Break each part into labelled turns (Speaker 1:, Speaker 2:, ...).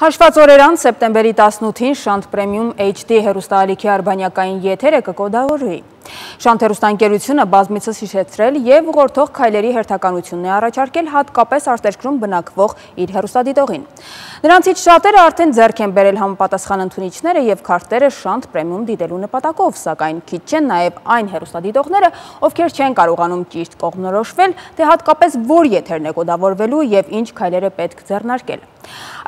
Speaker 1: Հաշված օրեր անց սեպտեմբերի 18-ին Շանթ Պրեմիում HD հեռուստաալիքի արբանյակային եթերը կկոդավորվի։ Շանթ հեռուստաընկերությունը բազմիցս հիշեցրել և ուղղորդող քայլերի հերթականությունն է առաջարկել հատկապես արտերկրում բնակվող իր հեռուստադիտողին։ Նրանցից շատերը արդեն ձեռք են բերել համապատասխան ընդունիչները և քարտերը Շանթ Պրեմիում դիտելու նպատակով, սակայն քիչ չեն նաև այն հեռուստադիտողները, ովքեր չեն կարողանում ճիշտ կողմնորոշվել, թե հատկապես որ եթերն է կոդավորվելու և ինչ քայլեր է պետք ձեռնարկել։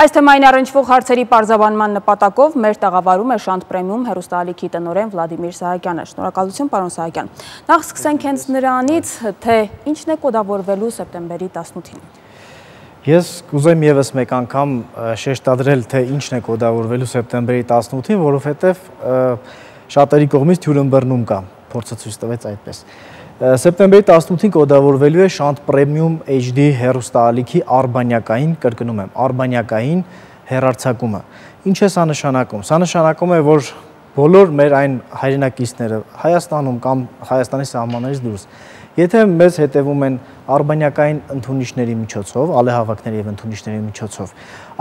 Speaker 1: Այս թեմային առնչվող հարցերի պարզաբանման նպատակով մեր տաղավարում է Շանթ Պրեմիում հեռուստաալիքի տնօրեն Վլադիմիր Սահակյանը։ Շնորհակալություն, պարոն Սահակյան։ Նախ սկսենք հենց նրանից, թե ինչն է կոդավորվելու սեպտեմբերի 18-ին։
Speaker 2: Ես կուզեմ ևս մեկ անգամ շեշտադրել, թե ինչն է կոդավորվելու սեպտեմբերի 18-ին, որովհետև շատերի կողմից թյուրըմբռնում կա, փորձը ցույց տվեց այդպես։ Սեպտեմբերի 18-ին կոդավորվելու է Շանթ Պրեմիում HD հեռուստաալիքի արբանյակային, կրկնում եմ, արբանյակային հեռարձակումը։ Ինչ է սա նշանակում։ Սա նշանակում է, որ բոլոր մեր այն հայրենակիցները Հայաստանում կամ Հայաստանի սահմաններից դուրս, եթե մեզ հետևում են արբանյակային ընդունիչների միջոցով, ալեհավաքների և ընդունիչների միջոցով,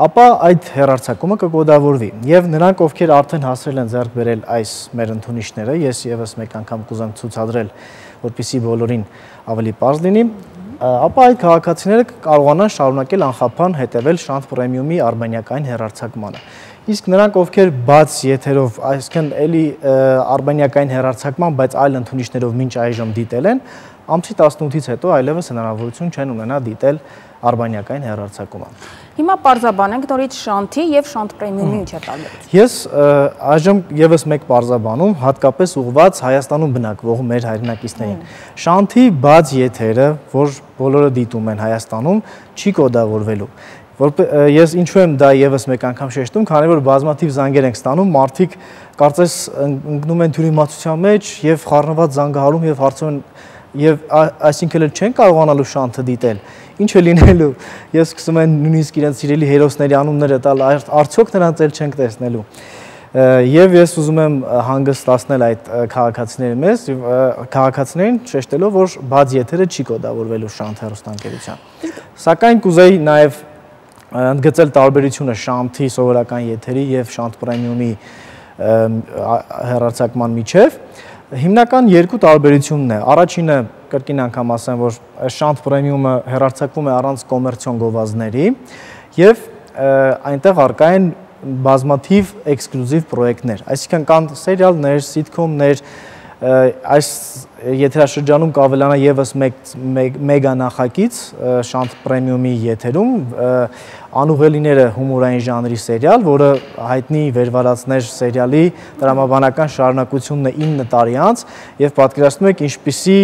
Speaker 2: ապա այդ հեռարձակումը կկոդավորվի։ Եվ նրանք, ովքեր արդեն հասրել են ձեռք բերել այս մեր ընդունիչները, ես ևս մեկ անգամ կուզեմ ցուցադրել, որպեսզի բոլորին ավելի պարզ լինի, ապա այդ քաղաքացիները կարողանան շարունակել անխափան հետևել Շանթ Պրեմիումի արբանյակային հեռարձակմանը։ Իսկ նրանք, ովքեր բաց եթերով, այսինքն էլի արբանյակային հեռարձակման, բայց այլ ընդունիչներով մինչ այժմ դիտել են, ամսի 18-ից հետո այլևս հնարավորություն չեն ունենա դիտել արբանյակային հեռարձակումը։
Speaker 1: Հիմա պարզաբանենք նորից Շանթի և Շանթ Պրեմիումի ինչ է տարբերությունը։
Speaker 2: Ես այժմ ևս մեկ պարզաբանում, հատկապես ուղղված Հայաստանում բնակվող մեր հայրենակիցներին։ Շանթի բաց եթերը, որ բոլորը դիտում են Հայաստանում, չի կոդավորվելու։ Ես ինչու եմ դա ևս մեկ անգամ շեշտում, քանի որ բազմաթիվ զանգեր ենք ստանում, մարդիկ կարծես ընկնում են թյուրիմացության մեջ և խառնված զանգահարում և հարցում են, և այսինքն չեն կարողանալու Շանթը դիտել, ինչ է լինելու, ես սկսում են նույնիսկ իրենց սիրելի հերոսների անունները տալ, արդյոք նրանց էլ չենք տեսնելու։ Եվ ես ուզում եմ հանգստացնել այդ քաղաքացիներին շեշտելով, որ բաց եթերը չի կոդավորվելու Շանթ հեռուստաընկերության։ Սակայն կուզեի նաև ընդգծել տարբերությունը Շանթի սովորական եթերի և Շանթ Պրեմիումի հեռարձակման միջև։ Հիմնական երկու տարբերությունն է։ Առաջինը, կրկին անգամ ասեմ, որ Շանթ Պրեմիումը հեռարձակվում է առանց կոմերցիոն գովազդների և այնտեղ առկա են բազմաթիվ էքսկլյուզիվ պրոյեկտներ, այսինքն կան սերիալներ, սիթքոմներ, այս եթերաշրջանում կավելանա ևս մեգա նախագիծ Շանթ Պրեմիումի եթերում, Անուղելիները հումորային ժանրի սերիալ, որը հայտնի վերվարածներ սերիալի տրամաբանական շարունակությունն է 9 տարի անց և պատկերացնում եք ինչպիսի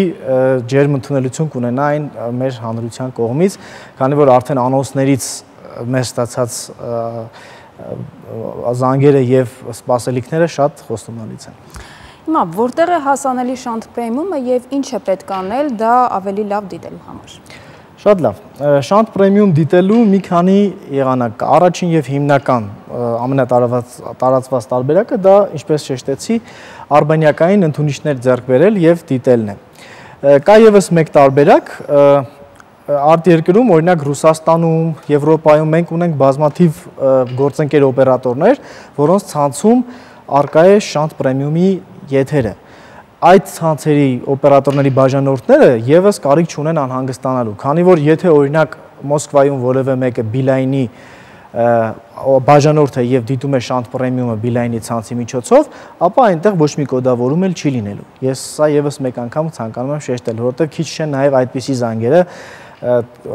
Speaker 2: ջերմ ընդունելություն կունենա այն մեր հանրության կողմից, քանի որ արդեն անոնսներից մեր ստացած զանգերը և սպասելիքները շատ խոստումնալից են։
Speaker 1: Հիմա, որտեղ է հասանելի Շանթ Պրեմիումը և ինչ է պետք անել դա ավելի լավ դիտելու համար։
Speaker 2: Շատ լավ։ Շանթ Պրեմիում դիտելու մի քանի եղանակ կա։ Առաջին և հիմնական ամենատարածված տարբերակը դա, ինչպես շեշտեցի, արբանյակային ընդունիչներ ձեռք բերել և դիտելն է։ Կա ևս մեկ տարբերակ, արտերկրում, օրինակ Ռուսաստանում, Եվրոպայում մենք ունենք բազմաթիվ գործընկեր օպերատորներ, որոնց ցանցում առկա է Շանթ Պրեմիումի եթերը։ Այդ ցանցերի օպերատորների բաժանորդները ևս կարիք չունեն անհանգստանալու, քանի որ եթե օրինակ Մոսկվայում որևէ մեկը Բիլայնի բաժանորդ է և դիտում է Շանթ Պրեմիումը Բիլայնի ցանցի միջոցով, ապա այնտեղ ոչ մի կոդավորում էլ չի լինելու։ Ես սա ևս մեկ անգամ ցանկանում եմ շեշտել, որովհետև քիչ չեն նաև այդպիսի զանգերը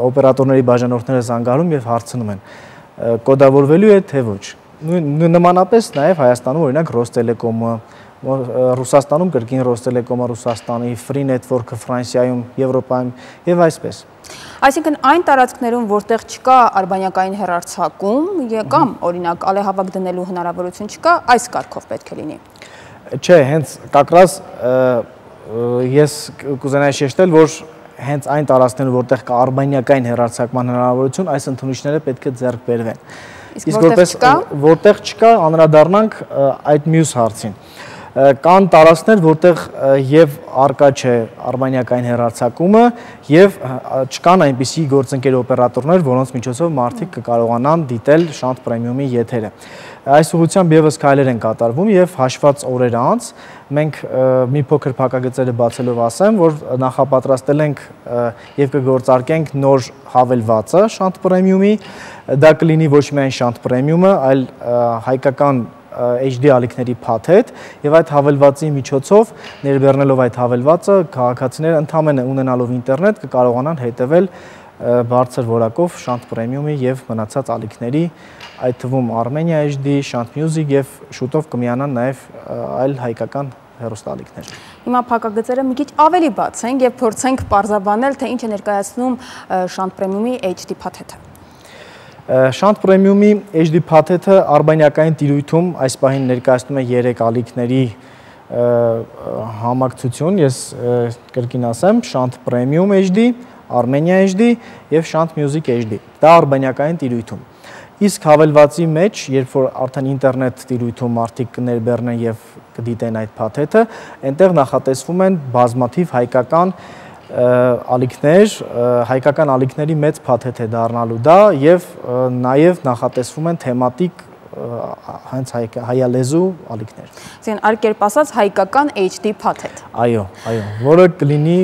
Speaker 2: օպերատորների բաժանորդները զանգահարում և հարցնում են, կոդավորվելու է թե ոչ։ Նմանապես նաև Հայաստանում օրինակ Ռոստելեկոմը, Ռուսաստանում կրկին Ռոստելեկոմը Ռուսաստանի, Free Network-ը Ֆրանսիայում, Եվրոպայում և այսպես։
Speaker 1: Այսինքն այն տարածքներում, որտեղ չկա արբանյակային հեռարձակում կամ օրինակ ալեհավաք դնելու հնարավորություն չկա, այս կարգով պետք է լինի։
Speaker 2: Չէ, հենց կակրած ես կուզենայի շեշտել, որ հենց այն տարածքներում, որտեղ կա արբանյակային հեռարձակման հնարավորություն, այս ընդունիչները պետք է ձեռք բերվեն։ Իսկ որտեղ չկա, անդրադառնանք այդ մյուս հարցին։ կան տարածքներ, որտեղ եւ արկա չէ արբանյակային հեռարձակումը եւ չկան այնպիսի գործընկեր օպերատորներ, որոնց միջոցով մարդիկ կկարողանան դիտել Շանթ Պրեմիումի եթերը։ Այս ուղղությամբ եւս քայլեր են կատարվում եւ հաշված օրեր անց մենք մի փոքր փակագծերը բացելով ասեմ, որ նախապատրաստել ենք եւ կգործարկենք նոր հավելվածը Շանթ Պրեմիումի, դա կլինի ոչ միայն Շանթ Պրեմիումը, այլ հայկական HD ալիքների փաթեթ եւ այդ հավելվածի միջոցով ներբեռնելով այդ հավելվածը քաղաքացիները ընդամենը ունենալով ինտերնետ կկարողանան հետևել բարձր որակով Շանթ Պրեմիումի եւ մնացած ալիքների, այդ թվում Armenia HD, Shant Music եւ շուտով կմիանան նաեւ այլ հայկական հեռուստաալիքներ։
Speaker 1: Հիմա փակագծերը մի քիչ ավելի բացենք եւ փորձենք պարզաբանել, թե ինչ է ներկայացնում Շանթ Պրեմիումի HD փաթեթը։
Speaker 2: Շանթ Պրեմիումի HD փաթեթը արբանյակային տիրույթում այս պահին ներկայացնում է 3 ալիքների համակցություն, ես կրկին ասեմ, Շանթ Պրեմիում HD, Armenia HD եւ Shant Music HD։ Դա արբանյակային տիրույթում։ Իսկ հավելվածի մեջ, երբ որ արդեն ինտերնետ տիրույթում մարդիկ կներբեռնեն եւ կդիտեն այդ փաթեթը, այնտեղ նախատեսվում են բազմաթիվ հայկական ալիքներ, հայկական ալիքների մեծ փաթեթ է դառնալու դա եւ նաեւ նախատեսվում են թեմատիկ հենց հայալեզու ալիքներ։
Speaker 1: Այսինքն այլ կերպ ասած հայկական HD փաթեթ։
Speaker 2: Այո, որը կլինի,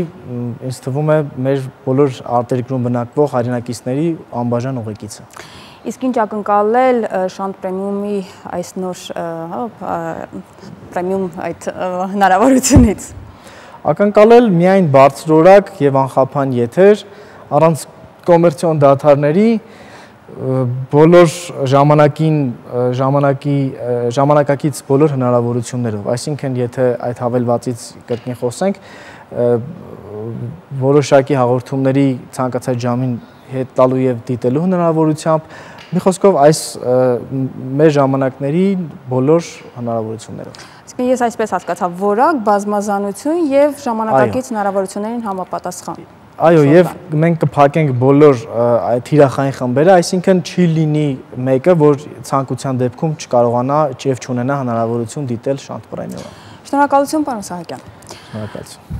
Speaker 2: ինձ թվում է, մեր բոլոր արտերկրում բնակվող հայրենակիցների անբաժան ուղեկիցը։
Speaker 1: Իսկ ինչ ակնկալել Շանթ Պրեմիումի այս նոր պրեմիում այդ հնարավորությունից։ Ակնկալել
Speaker 2: միայն բարձրորակ եւ անխափան եթեր, առանց կոմերցիոն դադարների, բոլոր ժամանակակից բոլոր հնարավորություններով, այսինքն եթե այդ հավելվածից կրկին խոսենք, որոշակի հաղորդումների ցանկացած ժամին հետ տալու եւ դիտելու հնարավորությամբ, մի խոսքով այս մեր ժամանակների բոլոր հնարավորություններով։
Speaker 1: Իսկ ես այսպես հասկացա, որակ, բազմազանություն եւ ժամանակակից հնարավորություններին համապատասխան։
Speaker 2: Այո, եւ մենք կփակենք բոլոր այդ թիրախային խմբերը, այսինքն չի լինի մեկը, որ ցանկության դեպքում չկարողանա եւ չունենա հնարավորություն դիտել Շանթ Պրեմիումը։
Speaker 1: Շնորհակալություն, պարոն Սահակյան։
Speaker 2: Շնորհակալություն։